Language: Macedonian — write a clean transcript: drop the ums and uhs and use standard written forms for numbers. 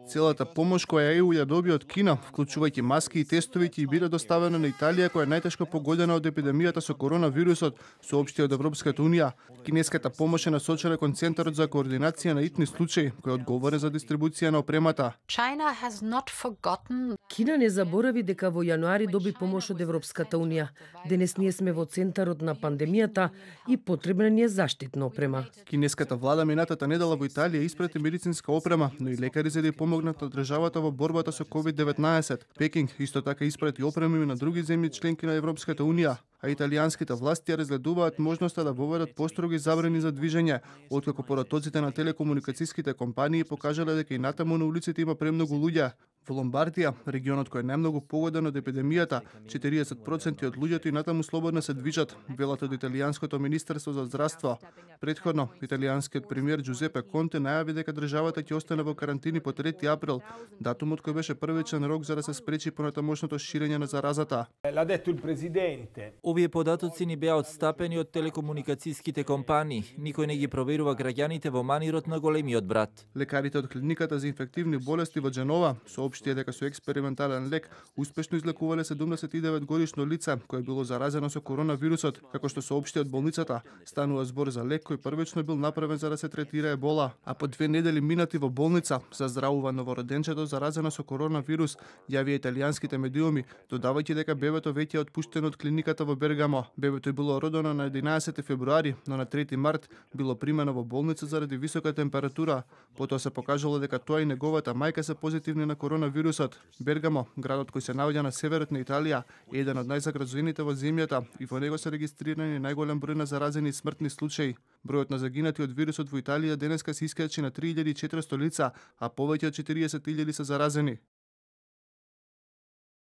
Целата помош која ЕУ ја доби од Кина, вклучувајќи маски и тестови, ќе биде доставена на Италија, која е најтешко погодена од епидемијата со коронавирусот, соопшти од Европската унија. Кинеската помош е насочена кон Центарот за координација на итни случаи, кој е одговорен за дистрибуција на опремата. Кина не заборави дека во јануари доби помош од Европската унија. Денес ние сме во центарот на пандемијата и потребна ни е заштитна опрема. Кинеската влада минатата недела во Италија испрати медицинска опрема, но и лекари за да помогнат на државата во борбата со COVID-19. Пекинг исто така испрати опреми на други земји членки на Европската унија, а италијанските власти разгледуваат можноста да воведат построги забрани за движење, откако поротоците на телекомуникацијските компании покажале дека и натаму на улиците има премногу луѓе. Во Ломбардија, регионот кој е најмногу погоден од епидемијата, 40% од луѓето и натаму слободно се движат, велат од италијанското министерство за здравство. Претходно, италијанскиот премиер Џузепе Конте најави дека државата ќе остане во карантини по 3 април, датумот кој беше првичен рок за да се спречи понатамошното ширење на заразата. Овие податоци ни беа отстапени од телекомуникацијските компании. Никој не ги проверува граѓаните во манирот на големиот брат. Лекарите од клиниката за инфективни болести во Џенова соопштија дека со експериментален лек успешно излекувале 79 годишно лице кое било заразено со коронавирусот. Како што соопшти од болницата, станува збор за лек кој првично бил направен за да се третира ебола, а по 2 недели минати во болница за здравува новороденчето заразено со коронавирус, јавија италијанските медиуми, додавајќи дека бебето веќе е отпуштено од клиниката во Бергамо. Бебето е било родено на 11 февруари, но на 3 март било примено во болница заради висока температура. Потоа се покажало дека тоа и неговата мајка се позитивни на коронавирусот. Бергамо, градот кој се наоѓа на северот на Италија, е еден од најзагразените во земјата и во него се регистрирани најголем број на заразени и смртни случаи. Бројот на загинати од вирусот во Италија денеска се искачи на 3400 лица, а повеќе од 40.000 се заразени.